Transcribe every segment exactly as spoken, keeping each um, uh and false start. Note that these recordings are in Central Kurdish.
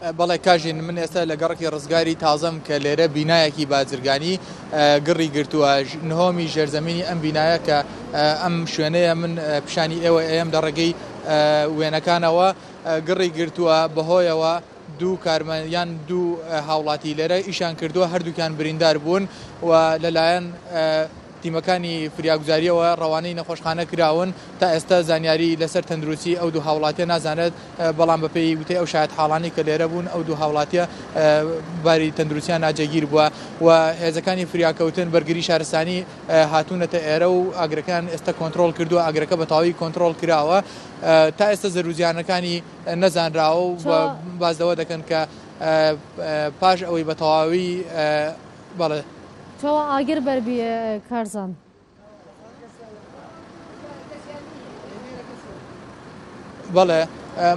بەڵێ کاژین، من ئێستا لە گەڕەکی ڕزگاری تازەم کە لێرە بینایەکی بازرگانی گڕی گرتووە. نهۆمی ژێرزەمینی ئەم بینایە کە ئەم شوێنەیە من پیشانی ئێوە ئێم لە ڕێگەی وێنەکانەوە گڕی گرتووە، بەهۆیەوە دوو کارمەند یان دوو هاوڵاتی لێرە ئیشان کردووە، هەردووکیان بریندار بوون و لەلایەن تیمەکانی فریاگوزاریەوە ڕەوانەی نەخۆشخانە کراون. تا ئێستا زانیاری لەسەر تەندروستی ئەو دوو هاوڵاتیە نازانێت، بەڵام بەپێی وتەی ئەو شایەت حاڵانی کە لێرە بوون ئەو دوو هاوڵاتیە باری تەندروستیان ناجێگیر بووە و هێزەکانی فریاکەوتن بەرگری شارستانی هاتوونەتە ئێرە و ئاگرەکان ئێستا کۆنترۆڵ کردووە، ئاگرەکە بە تەواوی کۆنترۆڵ کراوە. تا ئێستا زەروزیانەکانی نەزانراوە و باز لەوە دەکەن کە پاش ئەوەی بە تەواوی بەڵێ چاوە ئاگر بەربی کارزان. بەڵێ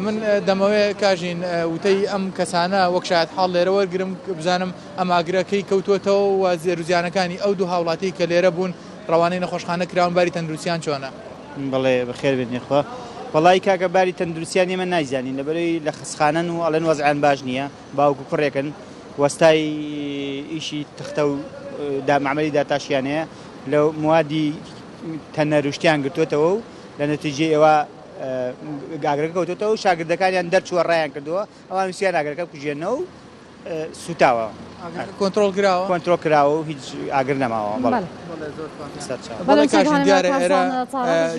من دەمەوێت کاژین وتەی ئەم کەسانە وەک شایەت حاڵ لێرە وەرگرم بزانم ئەم ئاگرەکەی کەوتووەتەوە و زێروزیانەکانی ئەو دوو هاوڵاتی کە لێرە بوون ڕەوانەی نەخۆشخانە کراون باری تەندروستیان چۆنە؟ بەڵێ بەخێر بێن یخوا. وەڵای کاکە باری تەندروستیان ئێمە نایزانین، لەبەرەوەی لە خەسخانەن و ئەڵێن وەزعیان باش نییە، باوک و کوڕێکن وەستای ئیشی تەختە و معمەلی داتاشیان هەیە، لە موادی تەنەروشتیان گرتووەتەوە و لە نەتیجەی ئێوە ئاگرەکە کەوتووەتەوە و شاگردەکانیان دەرچووە ڕایان کردووە، ئەوان ویستیان ئاگرەکە بکوژێنەوە و سوتاوە. کۆنترۆڵ کراوە؟ کۆنترۆڵ کراوە و هیچ ئاگر نەماوە. بەڵێ بەڵێ کاژین دیارە ئێرە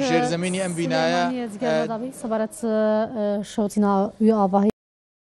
ژێرزەمینی ئەم بینایە سەبارەت شەوتینا وی ئاواهی.